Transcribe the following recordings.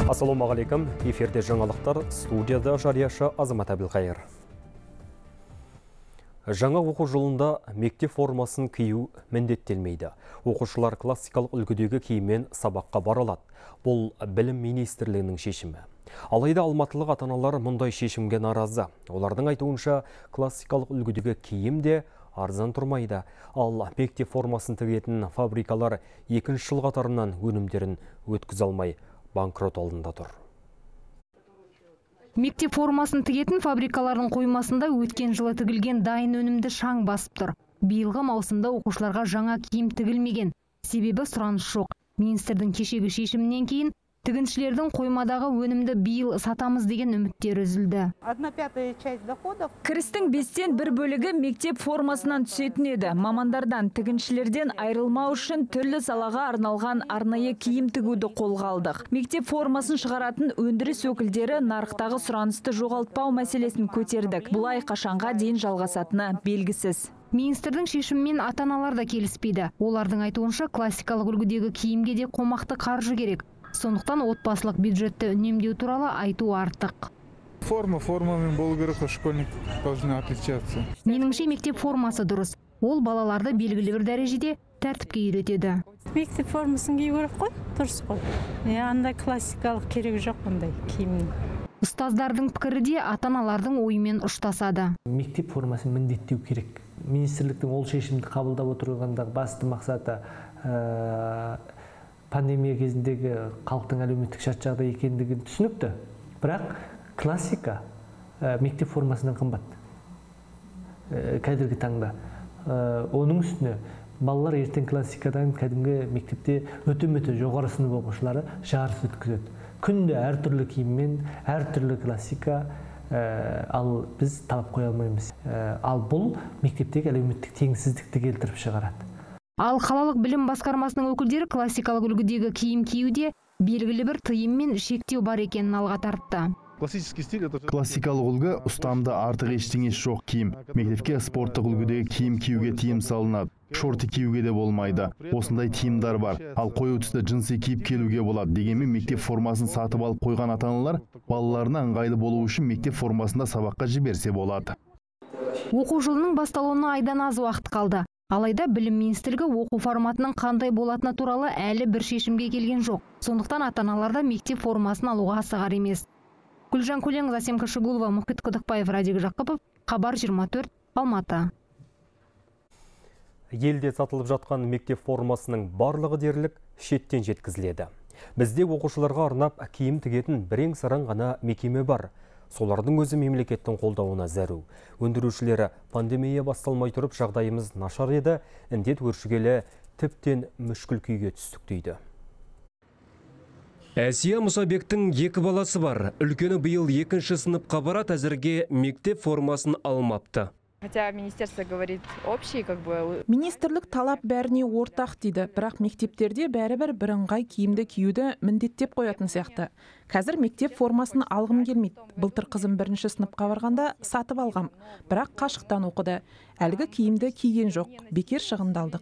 Ассалаумағалейкум, эфирде жаңалықтар, студияда жарияшы Азамат Әбілқайыр. Жаңа оқу жылында мектеп формасын кию міндеттелмейді. Оқушылар классикалық үлгідегі киіммен сабаққа бара алады. Бұл білім министрлігінің шешімі. Алайда алматылық ата-аналар мұндай шешімге наразы. Олардың айтуынша классикалық үлгідегі киім де арзан тұрмайды. Ал мектеп формасын тігетін фабрикалар екінші жыл қатарынан өнімдерін өткізе алмай банкрот алдында тұр. Мектеп формасын тігетін фабрикалардың қоймасында өткен жылы тігілген дайын өнімді шаң басып тұр. Биылғы маусымда оқушыларға жаңа киім тігілмеген. Себебі сұраныс жоқ. Министрдің кешегі шешімінен кейін тігіншілердің қоймадағы өнімді биыл сатамыз деген үміттері үзілді. 1/5 часть доходов. Кірістің 1/5 бөлігі мектеп формасынан түсетін еді. Мамандардан тігіншілерден айырылмау үшін түрлі салаға арналған арнайы киім тігуді қолға алдық. Мектеп формасын шығаратын өндіріс өкілдері нарықтағы сұранысты жоғалтпау мәселесін көтердік. Бұлай қашанға дейін жалғасатыны белгісіз. Министрдің шешімімен ата-аналар да келіспейді. Олардың айтуынша классикалық үлгідегі киімге де қомақты қаржы керек. Сондықтан отбасылық бюджетті үнемдеу туралы айту артық. Формамен болу керек, школьник должны отличаться. Меніңше мектеп формасы дұрыс. Ол балаларды белгілі бір дәрежеде тәртіпке үйретеді. Мектеп формасын кию керек қой, дұрыс қой. Андай классикалық керек жоқ бұндай киімнің. Ұстаздардың пікірі де ата-аналардың ойымен ұштасады. Мектеп формасын міндеттеу керек. Министрліктің ол шешімді қабылдап отырғандағы басты мақсаты пандемия кезіндегі халықтың әлеуметтік шарт жағдай екендігін түсінікті. Бірақ классика мектеп формасынан қымбат. Қазіргі таңда. Оның үстіне балалар ертең классикадан кәдімгі мектепте өте жоғары сынып оқушылары жарыс өткізеді. Күнде әртүрлі киіммен, әртүрлі классика, ал біз талап қоя алмаймыз. Ал бұл мектептегі әлеуметтік теңсіздікті келтіріп шығарады. Ал қалалық білім басқармасының өкілдері классикалық үлгідегі киім киюде белгілі бір тыйым мен шектеу бар екенін алға тартты. Классикалық үлгі ұстамды артық ештеңесі жоқ киім. Мектепке спорттық үлгідегі киім киюге тыйым салынады. Шорты киюге де болмайды. Осындай тыйымдар бар. Ал қою түсті джинсы киіп келуге болады. Дегенмен мектеп формасын сатып алып қойған ата-аналар балаларына ыңғайлы болу үшін мектеп формасында сабаққа жіберсе болады. Оқу жылының басталуына айдан аз уақыт қалды. Алайда білім министрлігі оқу форматының қандай болатыны туралы әлі бір шешімге келген жоқ. Сондықтан ата-аналарда мектеп формасын алуға асығар емес. Гүлжан Көленқызы, Асем Кашығулова, Мұхит Құдықбаев, Радик Жақыпов, Хабар 24, Алматы. Елде сатылып жатқан мектеп формасының барлығы дерлік шеттен жеткізіледі. Бізде оқушыларға арнап киім тігетін бірең-сараң ғана мекеме бар. Солардың өзі мемлекеттің қолдауына зәру. Өндірушілері пандемия басталмай тұрып жағдайымыз нашар еді, індет өршігелі тіптен мүшкіл күйге түстік дейді. Әсия Мұсабектің 2 баласы бар. Үлкені биыл 2-ші сыныпқа барады, әзірге мектеп формасын алмапты. Хотя министерство говорит общий, Министрлік талап бәріне ортақ дейді, бірақ мектептерде бәрібір бірыңғай киімді киюді міндеттеп қоятын сияқты. Қазір мектеп формасын алғым келмейді. Былтыр қызым 1-ші сыныпқа барғанда сатып алғам, бірақ қашықтан оқыды. Әлгі киімді киген жоқ, бекер шығындалдық.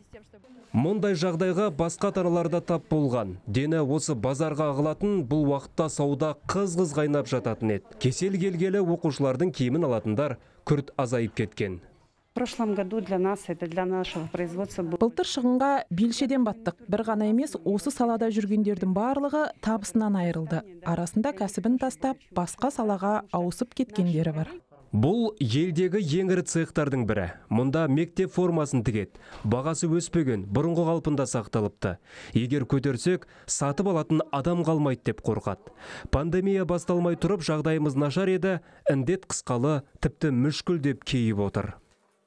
Мұндай жағдайға басқа ата-аналарда тап болған. Дені осы базарға ағылатын, бұл уақытта сауда қыз-қыз қайнап жататын еді. Кесел келгелі оқушылардың киімін алатындар күрт азайып кеткен. В прошлом году для нас, это для нашего производства был... Былтыр шығынға белшеден баттық. Бір ғана емес, осы салада жүргендердің барлығы табысынан айырылды. Арасында кәсібін тастап, басқа салаға ауысып кеткендері бар. Бұл елдегі ең ірі цехтардың бірі. Мұнда мектеп формасын тігеді. Бағасы өспеген, бұрынғы қалпында сақталыпты. Егер көтерсек, сатып алатын адам қалмайды деп қорқады. Пандемия басталмай тұрып, жағдайымыз нашар еді, індет қысқалы, тіпті мүшкіл деп кейіп отыр.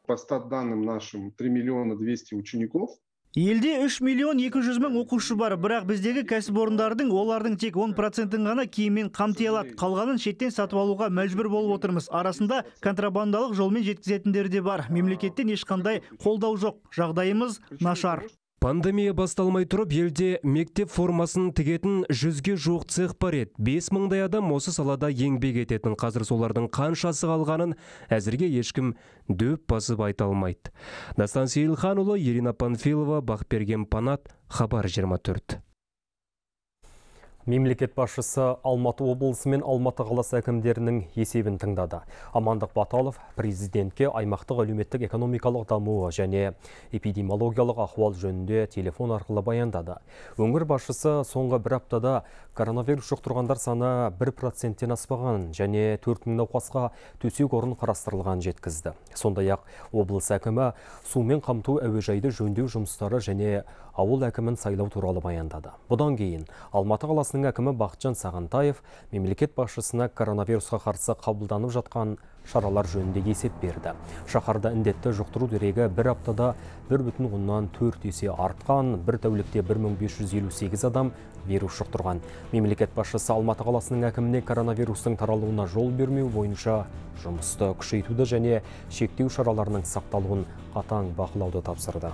По статданным нашим 3 200 000 учеников. Елде 3 200 000 оқушы бар, бірақ біздегі кәсіпорындардың олардың тек 10%-ын ғана киіммен қамти алады. Қалғанын шеттен сатып алуға мәжбүр болып отырмыз. Арасында контрабандалық жолмен жеткізетіндер де бар. Мемлекеттен ешқандай қолдау жоқ. Жағдайымыз нашар. Пандемия басталмай тұрып, елде мектеп формасын тігетін 100-ге жуық цех бар еді. 5000 адам осы салада еңбек ететін. Қазір солардың қаншасы қалғанын әзірге ешкім дөп басып айта алмайды. Дастан Сейілханұлы, Ирина Панфилова, Бақберген Панат, Хабар 24. Мемлекет басшысы Алматы облысы мен Алматы қаласы әкімдерінің есебін тыңдады. Амандық Баталов президентке аймақтық әлеуметтік экономикалық дамуы және эпидемиологиялық ахуал жөнінде телефон арқылы баяндады. Өңір басшысы соңғы бір аптада коронавирус жұқтырғандар саны 1%-тен аспаған және 4 мың науқасқа төсек орын қарастырылған жеткізді. Сондай-ақ облыс әкімі сумен қамту әуежайды жөндеу жұмыстары және ауыл әкімін сайлау туралы баяндады. Бұдан кейін Алматы қаласының әкімі Бақытжан Сағынтаев мемлекет басшысына коронавирусқа қарсы қабылданып жатқан шаралар жөнінде есеп берді. Шаһарда індетті жұқтыру дерегі бір аптада 1,4 есе артқан, бір тәулікте 1558 адам вирус жұқтырған. Мемлекет басшысы Алматы қаласының әкіміне коронавирустың таралуына жол бермеу бойынша жұмысты күшейтуді және шектеу шараларының сақталуын қатаң бақылауды тапсырды.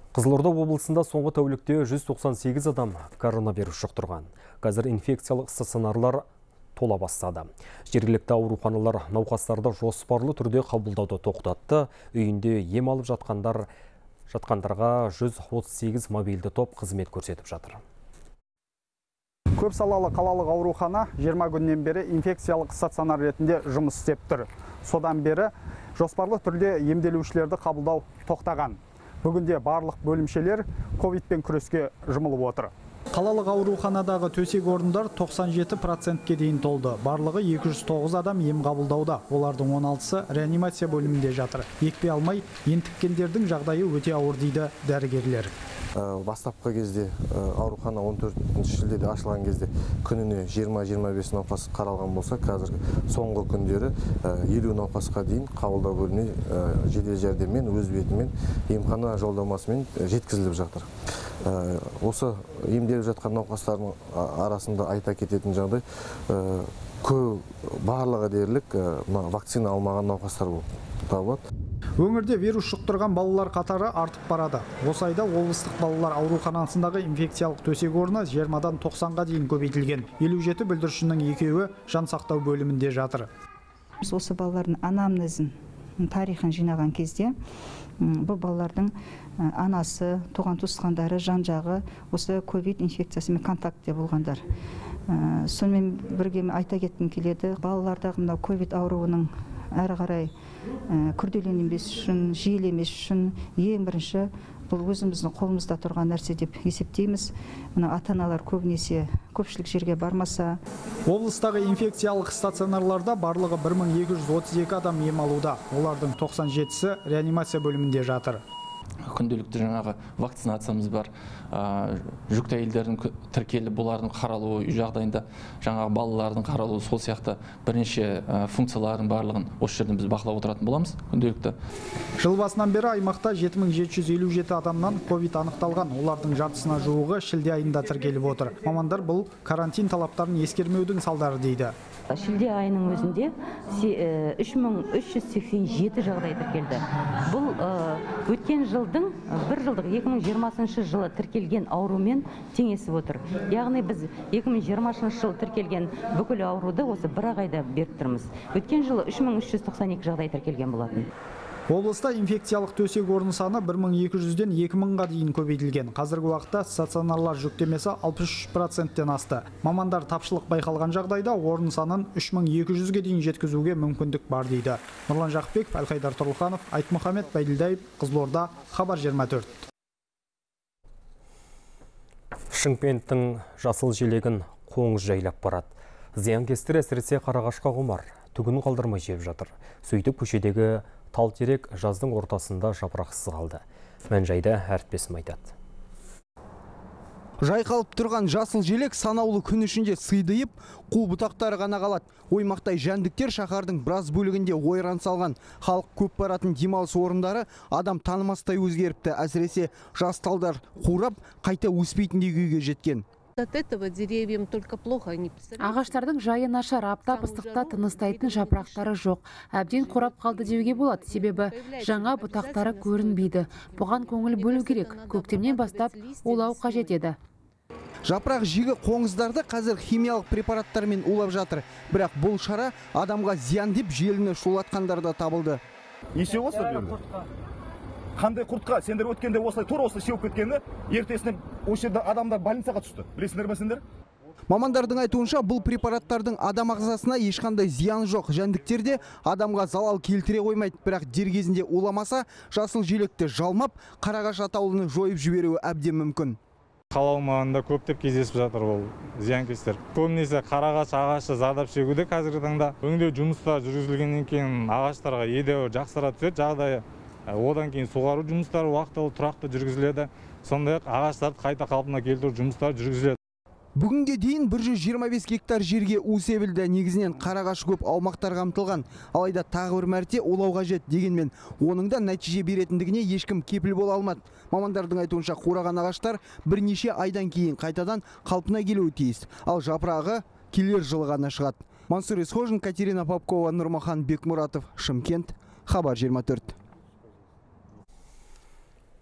Қызылорда облысында соңғы тәулікте 198 адам коронавирус жұқтырған. Қазір инфекциялық стационарлар тола бастады. Жергілікті ауруханалар науқастарды жоспарлы түрде қабылдауды тоқтатты. Үйінде ем алып жатқандарға 138 мобильді топ қызмет көрсетіп жатыр. Көп салалы қалалық аурухана 20 күннен бері инфекциялық стационар ретінде жұмыс істеп тұр. Содан бері жоспарлы түрде емделушілерді қабылдау тоқтаған. Бүгінде барлық бөлімшелер ковидпен күреске жұмылып отыр. Қалалық ауруханадағы төсек орындар 97%-ке дейін толды. Барлығы 209 адам ем қабылдауда. Олардың 16-сы реанимация бөлімінде жатыр. Екпе алмай, ентіккендердің жағдайы өте ауыр дейді дәрігерлер. Бастапқы кезде аурухана 14 шілдеде ашылған кезде күніне 20-25 науқас қаралған болса, қазір соңғы күндері 50 науқасқа дейін қабылдау бөліміне жедел жәрдеммен, өз бетімен емхана жолдамасымен жеткізіліп жатыр. Осы емделіп жатқан науқастардың арасында айта кететін жағдай, барлығы дерлік вакцина алмаған науқастар болып табылады. Өңірде вирус жұқтырған балалар қатары артып барады. Осы айда облыстық балалар ауруханасындағы инфекциялық төсек орны 20-дан 90-ға дейін көбейтілген. 57 бүлдіршіннің екеуі жан сақтау бөлімінде жатыр. Осы балалардың анамнезін, тарихын жинаған кезде бұл балалардың анасы, туған туысқандары, жан-жағы осы ковид инфекциясымен контактте болғандар. Сонымен бірге айта кеткім келеді, балалардағы мынау ковид ауруының әрі қарай күрделенбес үшін, жиілемес үшін ең бірінші бұл өзіміздің қолымызда тұрған нәрсе деп есептейміз. Мына ата-аналар көпшілік жерге бармаса. Облыстағы инфекциялық стационарларда барлығы 1232 адам ем алуда. Олардың 97-сі реанимация бөлімінде жатыр. Күнделікті жаңағы вакцинациямыз бар. Жүкті әйелдердің тіркеліп, бұлардың қаралуы, үй жағдайында жаңағы балалардың қаралуы, сол сияқты бірнеше функциялардың барлығын осы жерден біз бақылап отыратын боламыз күнделікті. Жыл басынан бері аймақта 7757 адамнан ковид анықталған. Олардың жартысына жуығы шілде айында тіркеліп отыр. Мамандар бұл карантин талаптарын ескермеудің салдары дейді. Шілде айының өзінде 3387 жағдай тіркелді. Бұл өткен жылдың бір жылдық 2020 жылы тіркелген аурумен теңесіп отыр. Яғни біз 2020 жылы тіркелген бүкіл ауруды осы бір айда беріп тұрмыз. Өткен жылы 3392 жағдай тіркелген болатын. Облыста инфекциялық төсек орын саны 1200-ден 2000-ға дейін көбейтілген. Қазіргі уақытта стационарлар жүктемесі 63%-тен асты. Мамандар тапшылық байқалған жағдайда орын санын 3200-ге дейін жеткізуге мүмкіндік бар дейді. Нұрлан Жақыпбеков, Әлқайдар Тұрлыханов, Айтмұхамед Байділдаев, Қызылорда, Хабар 24. Шымкенттің жасыл желегін қоңыз жайлап барады. Зиянкестер әсіресе қарағашқа құмар, түгін қалдырмай жеп жатыр. Сөйтіп көшедегі тал-терек жаздың ортасында жапырақсыз қалды. Мән-жайды әріптесім айтады. Жайқалып тұрған жасыл желек санаулы күн ішінде сыйдайып, қу бұтақтары ғана қалады. Оймақтай жәндіктер шаһардың біраз бөлігінде ойран салған. Халық көп баратын демалыс орындары адам танымастай өзгеріпті. Әсіресе жас талдар қурап, қайта өспейтіндей күйге жеткен. От этого деревьям только плохо. Ағаштардың жайы нашар, аптап ыстықта тыныстайтын жапырақтары жоқ. Әбден қурап қалды деуге болады, себебі жаңа бұтақтары көрінбейді. Бұған көңіл бөлу керек. Көктемнен бастап улау қажет еді. Жапырақ жегі қоңыздарды қазір химиялық препараттармен улап жатыр. Бірақ бұл шара адамға зиян деп желіні шулатқандар да табылды. Неше осы қандай құртқа сендер өткенде осылай тура осылай сеуіп кеткені, ертесіне осы жерде адамдар больницаға түсті. Білесіңдер ме сендер? Мамандардың айтуынша бұл препараттардың адам ағзасына ешқандай зиян жоқ. Жәндіктер де адамға залал келтіре қоймайды, бірақ дер кезінде уламаса, жасыл желекті жалмап, қарағаш атаулыны жойып жіберуі әбден мүмкін. Қала аумағында көптеп кездесіп жатыр ол зиянкестер. Көбінесе қарағаш ағашы зардап шегуде қазіргі таңда. Өңдеу жұмыстары жүргізілгеннен кейін ағаштарға едәуір жақсара түседі жағдайы. Одан кейін суғару жұмыстары уақытылы тұрақты жүргізіледі. Сондай-ақ ағаштарды қайта қалпына келтіру жұмыстары жүргізіледі. Бүгінге дейін 125 гектар жерге у себілді. Негізінен қарағаш көп аумақтар қамтылған. Алайда тағы бір мәрте улау қажет дегенмен, оның да нәтиже беретіндігіне ешкім кепіл бола алмады. Мамандардың айтуынша қураған ағаштар бірнеше айдан кейін қайтадан қалпына келуі тиіс. Ал жапырағы келер жылы ғана шығады. Мансұр Есхожин, Катерина Попкова, Нұрмахан Бекмұратов, Шымкент, Хабар 24.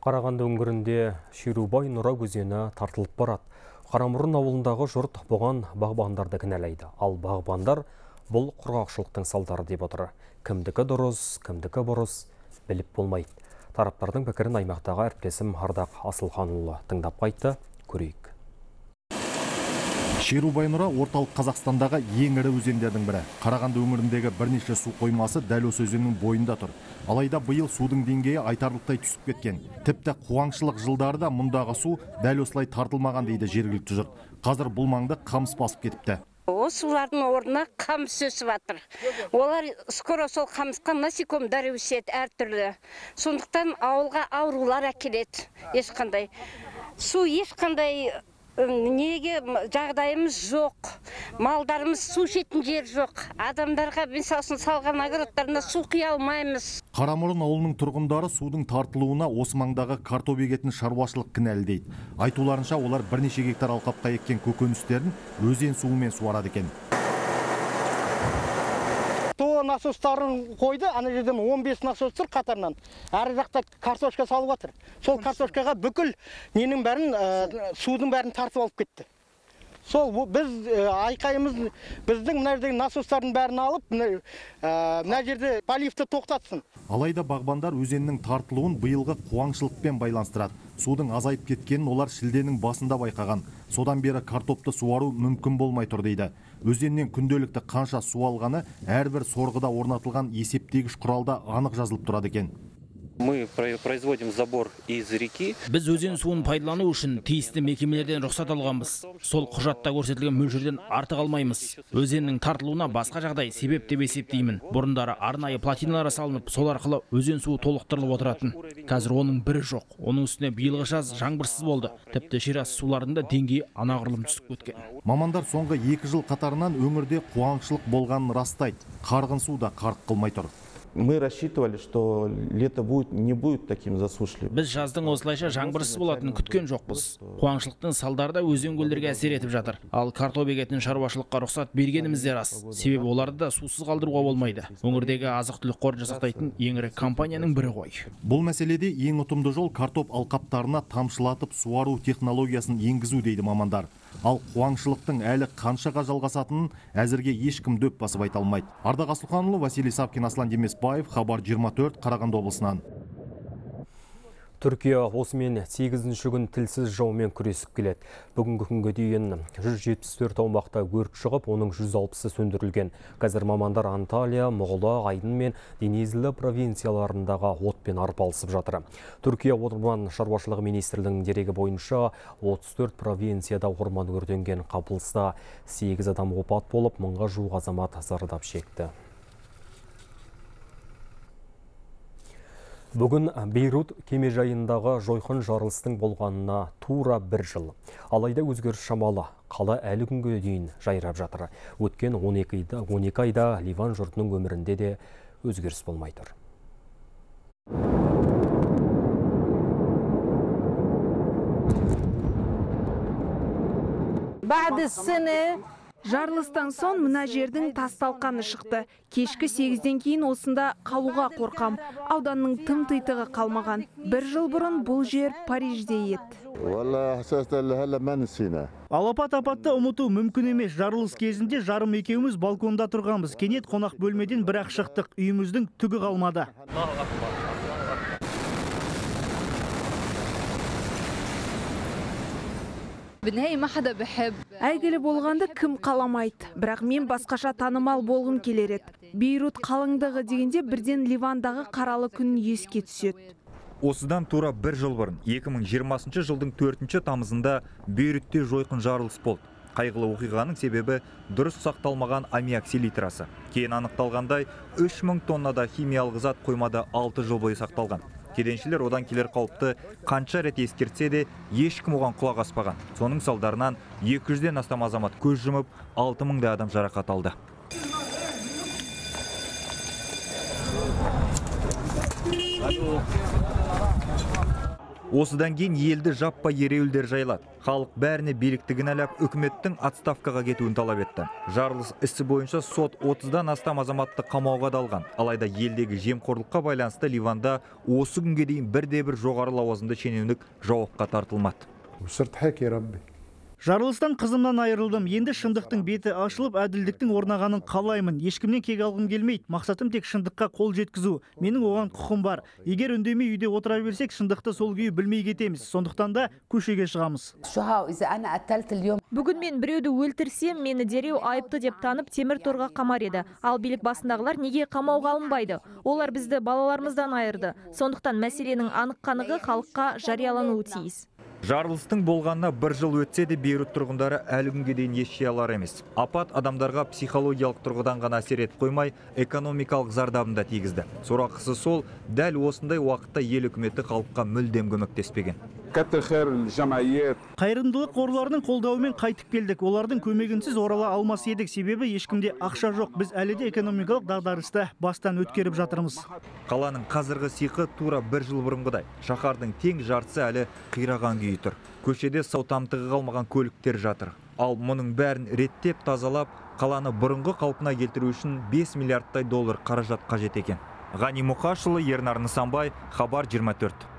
Қарағанды өңірінде Шерубай Нұра өзені тартылып барады. Қарамұрын ауылындағы жұрт бұған бағбандарды кінәлайды. Ал бағбандар бұл құрғақшылықтың салдары деп отыр. Кімдікі дұрыс, кімдікі бұрыс біліп болмайды. Тараптардың пікірін аймақтағы әріптесім Ардақ Асылханұлы тыңдап қайтты, көрейік. Шерубай Нұра орталық Қазақстандағы ең ірі өзендердің бірі. Қарағанды өңіріндегі бірнеше су қоймасы дәл осы өзеннің бойында тұр. Алайда биыл судың деңгейі айтарлықтай түсіп кеткен. Тіпті қуаңшылық жылдарда мұндағы су дәл осылай тартылмаған дейді жергілікті жұрт. Қазір бұл маңды қамыс басып кетіпті. Осылардың орнына қамыс өсіп жатыр. Олар скоро сол қамысқа насекомдар өседі әртүрлі. Сондықтан ауылға аурулар әкеледі. Ешқандай су ешқандай неге жағдайымыз жоқ, малдарымыз су ішетін жер жоқ, адамдарға мысалы салған огородтарына су құя алмаймыз. Қарамұрын ауылының тұрғындары судың тартылуына осы маңдағы картоп егетін шаруашылық кінәлі дейді. Айтуларынша олар бірнеше гектар алқапқа еккен көкөністерін өзен суымен суарады екен. Насостарын қойды, ана жерден 15 насос тұр қатарынан. Әрі жақта картошка салып жатыр. Сол картошкаға бүкіл ненің бәрін, судың бәрін тартып алып кетті. Сол біз айқайымыз біздің мына жердегі насостардың бәрін алып, мына жерде поливті тоқтатсын. Алайда бағбандар өзеннің тартылуын биылғы қуаңшылықпен байланыстырады. Судың азайып кеткенін олар шілденің басында байқаған. Содан бері картопты суару мүмкін болмай тұр дейді. Өзеннен күнделікті қанша су алғаны әрбір сорғыда орнатылған есептегіш құралда анық жазылып тұрады екен. Мы производим забор из реки. Біз өзен суын пайдалану үшін тиісті мекемелерден рұқсат алғанбыз. Сол құжатта көрсетілген мөлшерден артық алмаймыз. Өзеннің тартылуына басқа жағдай себеп деп есептеймін. Бұрындары арнайы плотиналар салынып, сол арқылы өзен суы толықтырылып отыратын. Қазір оның бірі жоқ. Оның үстіне биылғы жаз жаңбырсыз болды. Тіпті жерасты суларында деңгейі анағұрлым түсіп кеткен. Мамандар соңғы 2 жыл қатарынан өңірде қуаңшылық болғанын растайды. Қарғын су да қарқ қылмай тұр. Мы рассчитывали, что лето не будет таким засушливым. Біз жаздың осылайша жаңбырсыз болатынын күткен жоқпыз. Қуаңшылықтың салдары да өзен-көлдерге әсер етіп жатыр. Ал картоп егетін шаруашылыққа рұқсат бергеніміз де рас. Себебі оларды да сусыз қалдыруға болмайды. Өңірдегі азық-түлік қорын жасақтайтын ең ірі компанияның бірі ғой. Бұл мәселеде ең ұтымды жол картоп алқаптарына тамшылатып суару технологиясын енгізу дейді мамандар. Ал қуаңшылықтың әлі қаншаға жалғасатынын әзірге ешкім дөп басып айта алмайды. Ардақ Асылханұлы, Василий Савкин, Аслан Демесбаев, Хабар 24, Қарағанды облысынан. Түркия осымен 8-ші күн тілсіз жаумен күресіп келеді. Бүгінгі күнге дейін 174 аумақта өрт шығып, оның 160-ы сөндірілген. Қазір мамандар Анталия, Мұғыла, Айдын мен Денизлі провинцияларындағы отпен арпалысып жатыр. Түркия орман шаруашылығы министрлігінің дерегі бойынша 34 провинцияда орман өртенген. Қапылыста 8 адам опат болып, 1000-ға жуық азамат зардап шекті. Бүгін Бейрут кемежайындағы жойқын жарылыстың болғанына тура 1 жыл. Алайда өзгеріс шамалы. Қала әлі күнге дейін жайрап жатыр. Өткен 12 айда Ливан жұртының өмірінде де өзгеріс болмай тұр. Жарылыстан соң мына жердің тас-талқаны шықты. Кешкі 8-ден кейін осында қалуға қорқам. Ауданның тым тыйтығы қалмаған. 1 жыл бұрын бұл жер Парижде еді. Алапат-апатты ұмыту мүмкін емес. Жарылыс кезінде жарым екеуміз балконда тұрғанбыз. Кенет қонақ бөлмеден бірақ шықтық. Үйіміздің түгі қалмады. Әйгілі болғанды кім қаламайды, бірақ мен басқаша танымал болғым келер еді. Бейрут қалыңдығы дегенде бірден Ливандағы қаралы күн еске түседі. Осыдан тура бір жыл бұрын 2020 жылдың 4 тамызында Бейрутте жойқын жарылыс болды. Қайғылы оқиғаның себебі дұрыс сақталмаған аммиак селитрасы. Кейін анықталғандай 3000 тоннада химиялық зат қоймада 6 жыл бойы сақталған. Кеденшілер одан келер қауіпті қанша рет ескертсе де ешкім оған құлақ аспаған. Соның салдарынан 200-ден астам азамат көз жұмып, 6000 адам жарақат алды. Осыдан кейін елді жаппай ереуілдер жайлады. Халық бәріне биліктігін әлеп, үкіметтің отставкаға кетуін талап етті. Жарылыс ісі бойынша сот 30-дан астам азаматты қамауға алған. Алайда елдегі жемқорлыққа байланысты Ливанда осы күнге дейін бірде-бір жоғары лауазымды шенеунік жауапқа тартылмады. Жарылыстан қызымнан айырылдым. Енді шындықтың беті ашылып, әділдіктің орнағанын қалаймын. Ешкімнен кек алғым келмейді. Мақсатым тек шындыққа қол жеткізу. Менің оған құқым бар. Егер үндемей үйде отыра берсек, шындықты сол күйі білмей кетеміз. Сондықтан да көшеге шығамыз. Бүгін мен біреуді өлтірсем, мені дереу айыпты деп танып темір торға қамар еді. Ал билік басындағылар неге қамауға алынбайды? Олар бізді балаларымыздан айырды. Сондықтан мәселенің анық қанығы халыққа жариялануы тиіс. Жарылыстың болғанына бір жыл өтсе де Бейрут тұрғындары әлі күнге дейін еш жей алар емес. Апат адамдарға психологиялық тұрғыдан ғана әсер етіп қоймай, экономикалық зардабын да тигізді. Сорақысы сол, дәл осындай уақытта ел үкіметі халыққа мүлдем көмектеспеген. Қайырымдылық қорларының қолдауымен қайтып келдік. Олардың көмегінсіз орала алмас едік, себебі ешкімде ақша жоқ. Біз әлі де экономикалық дағдарысты бастан өткеріп жатырмыз. Қаланың қазіргі сиқы тура бір жыл бұрынғыдай. Шаһардың тең жартысы әлі қираған күйі тұр. Көшеде сау тамтығы қалмаған көліктер жатыр. Ал мұның бәрін реттеп тазалап, қаланы бұрынғы қалпына келтіру үшін 5 миллиардтай доллар қаражат қажет екен. Ғани Мұқашұлы, Ернар Нысанбай, Хабар 24.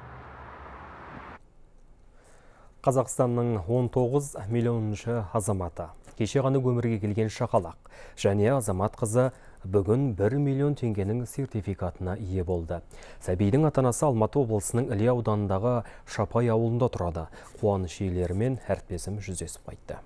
Қазақстанның 19 миллионыншы азаматы. Кеше ғана өмірге келген шақалақ. Және азамат қызы бүгін 1 миллион теңгенің сертификатына ие болды. Сәбидің ата-анасы Алматы облысының Іле ауданындағы Шапай ауылында тұрады. Қуаныш иелерімен әріптесім жүздесіп қайтты.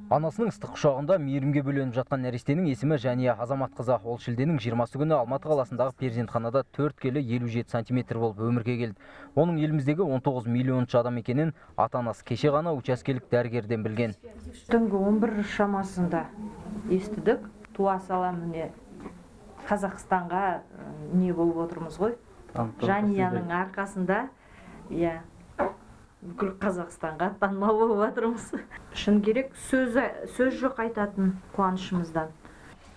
Анасының ыстық құшағында мейірімге бөленіп жатқан нәрестенің есімі Жәния Азамат қызы. Ол шілденің 20-сы күні Алматы қаласындағы перзентханада 4 келі 57 сантиметр болып өмірге келді. Оның еліміздегі 19 миллионыншы адам екенін ата-анасы кеше ғана учаскелік дәрігерден білген. Түнгі 11 шамасында естідік. Туа сала міне Қазақстанға не болып отырмыз ғой. Жәнияның арқасында, бүкіл Қазақстанға танымал болып отырмыз. Шын керек, сөз жоқ айтатын қуанышымыздан.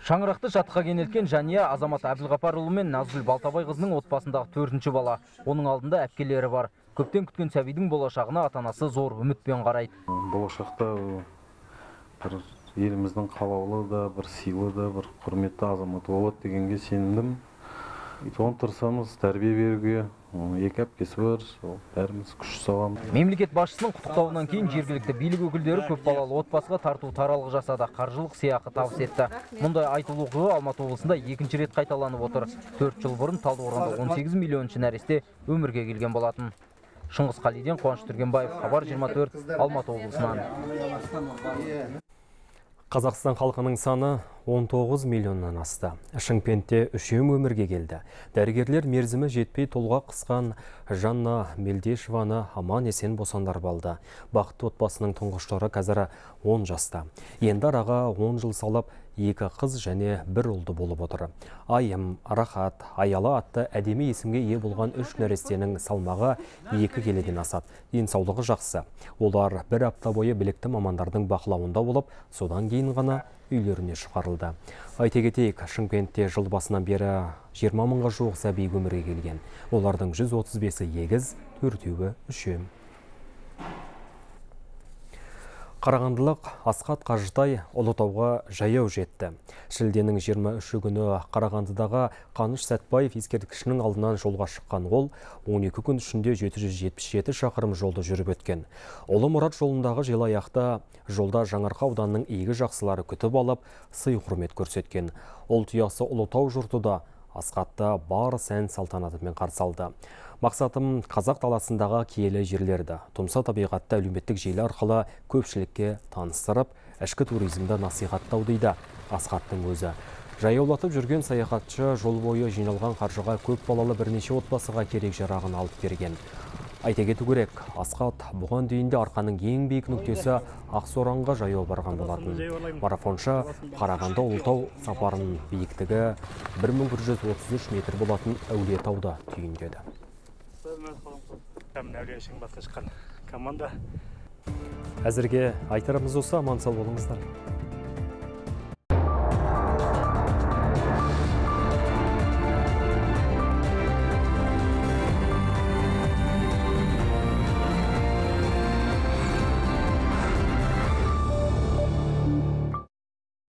Шаңырақты жатқа кенелткен Жәния Азамат Әбілғапарұлы мен Назгүл Балтабай қызының отбасындағы 4-ші бала. Оның алдында әпкелері бар. Көптен күткен сәбидің болашағына ата-анасы зор үмітпен қарайды. Болашақта бір еліміздің қалаулы да, бір сыйлы да, бір құрметті азаматы болады дегенге сенімдім. Соған тырысамыз тәрбие беруге, екі әпкесі бар, бәріміз күш саламыз. Мемлекет басшысының құттықтауынан кейін жергілікті билік өкілдері көпбалалы отбасыға тарту таралғы жасады, қаржылық сыйақы табыс етті. Мұндай айтулы оқиға Алматы облысында екінші рет қайталанып отыр. 4 жыл бұрын Талдықорғанда 18 миллионыншы нәресте өмірге келген болатын. Шыңғыс Қалиден, Қуаныш Түргенбаев, Хабар 24, Алматы облысынан. Қазақстан халқының саны 19 миллионнан асты. Шымкентте 3 өмірге келді. Дәрігерлер мерзімі жетпей толға қысқан Жанна Мелдешеваны аман есен босандар балды. Бақытты отбасының тұңғыштары қазір 10 жаста. Енді араға 10 жыл салып, 2 қыз және 1 ұлды болып отыр. Айым, Рахат, Аяла атты әдемі есімге ие болған 3 нәрестенің салмағы 2 келеден асады. Денсаулығы жақсы. Олар 1 апта бойы білікті мамандардың бақылауында болып, содан кейін ғана үйлеріне шығарылды. Айта кетейік, Шымкентте жыл басынан бері 20 мыңға жуық сәби өмірге келген. Олардың 135-і егіз, 4-еуі үшем. Қарағандылық Асқат Қажытай Ұлытауға жаяу жетті. Шілденің 23 күні Қарағандыдағы Қаныш Сәтбаев ескерткішінің алдынан жолға шыққан ол 12 күн ішінде 777 шақырым жолды жүріп өткен. Ұлы Мұрат жолындағы желаяқта жолда Жаңарқа ауданының игі жақсылары күтіп алып, сый құрмет көрсеткен. Ұлт ұясы Ұлытау жұрты да Асхатты бар сән салтанатымен қарсы алды. Мақсатым қазақ даласындағы киелі жерлерді, тұмса табиғатты әлеуметтік желі арқылы көпшілікке таныстырып, ішкі туризмді насихаттау дейді Асхаттың өзі. Жаяулатып жүрген саяхатшы жол бойы жиналған қаржыға көп балалы бірнеше отбасыға керек жарағын алып берген. Айта кету керек, Асхат бұған дейін де арқаның ең биік нүктесі Ақсоранға жаяу барған болатын. Марафоншы Қарағанды Ұлытау сапарының биіктігі 1133 метр болатын Әулиетауда түйіндеді. Әзірге айтарымыз осы, аман сау болыңыздар.